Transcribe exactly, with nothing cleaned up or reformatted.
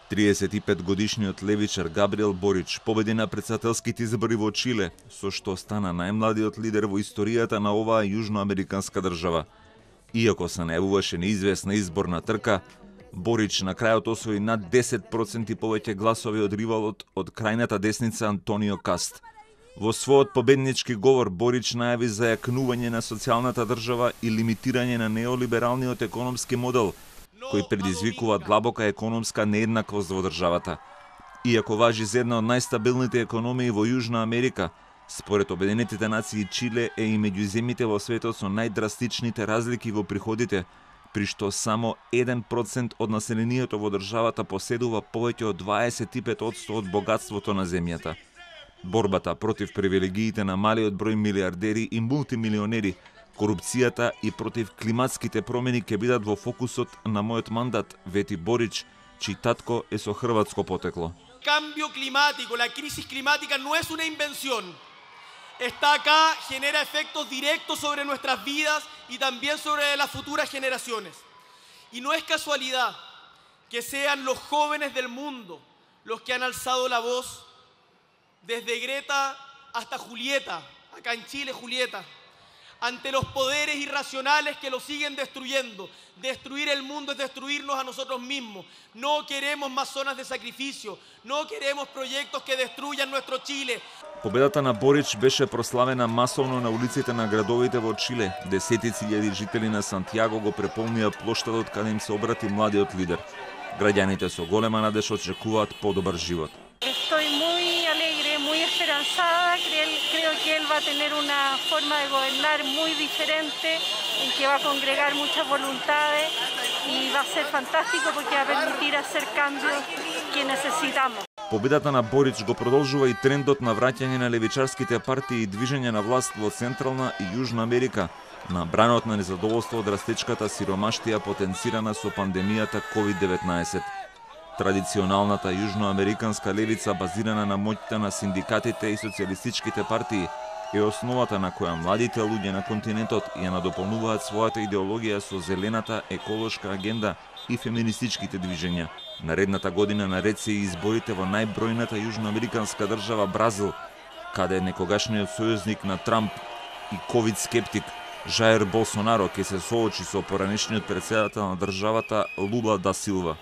триесет и пет годишниот левичар Габриел Борич победи на претседателските избори во Чиле, со што стана најмладиот лидер во историјата на оваа јужноамериканска држава. Иако се најавуваше неизвестна изборна трка, Борич на крајот освои над десет проценти повеќе гласови од ривалот од крајната десница Антонио Каст. Во својот победнички говор Борич најави за јакнување на социјалната држава и лимитирање на неолибералниот економски модел, кој предизвикува длабока економска нееднаквост во државата. Иако важи за една од најстабилните економии во Јужна Америка, според Обединетите нации Чиле е и меѓу земјите во светот со најдрастичните разлики во приходите, при што само еден процент од населението во државата поседува повеќе од дваесет и пет одсто од богатството на земјата. Борбата против привилегиите на малиот број милиардери и мултимилионери, корупцијата и против климатските промени ќе бидат во фокусот на мојот мандат, вети Борич, чиј татко е со хрватско потекло. Cambio climático, la crisis climática no es una invención. Está acá, genera efectos directos sobre nuestras vidas y también sobre las futuras generaciones. Y no es casualidad que sean los jóvenes del mundo los que han alzado la voz, desde Greta hasta Julieta, acá en Chile Julieta, ante los poderes irracionales que lo siguen destruyendo. Destruir el mundo es destruirnos a nosotros mismos. No queremos más zonas de sacrificio, no queremos proyectos que destruyan nuestro Chile. Победата на Борич беше прославена масовно на улиците на градовите во Чиле. Десетици илјади жители на Сантјаго го преполнија плоштадот каде им се обрати младиот лидер. Граѓаните со голема надеж очекуваат подобар живот. Estoy muy alegre, muy esperanzada. Creo, creo que él va a tener una forma de gobernar muy diferente, en que va a congregar muchas voluntades y va a ser fantástico porque va a permitir hacer cambios que necesitamos. Победата на Борич го продолжува и трендот на враќање на левичарските партии и движење на власт во Централна и Јужна Америка, на бранот на незадоволство од растечката сиромаштија потенцирана со пандемијата ковид деветнаесет. Традиционалната јужноамериканска левица, базирана на моќта на синдикатите и социјалистичките партии, е основата на која младите луѓе на континентот ја надополнуваат својата идеологија со зелената еколошка агенда и феминистичките движења. Наредната година наред се и изборите во најбројната јужноамериканска држава Бразил, каде некогашниот сојузник на Трамп и ковид скептик Жаир Болсонаро ќе се соочи со поранешниот претседател на државата Лула да Силва.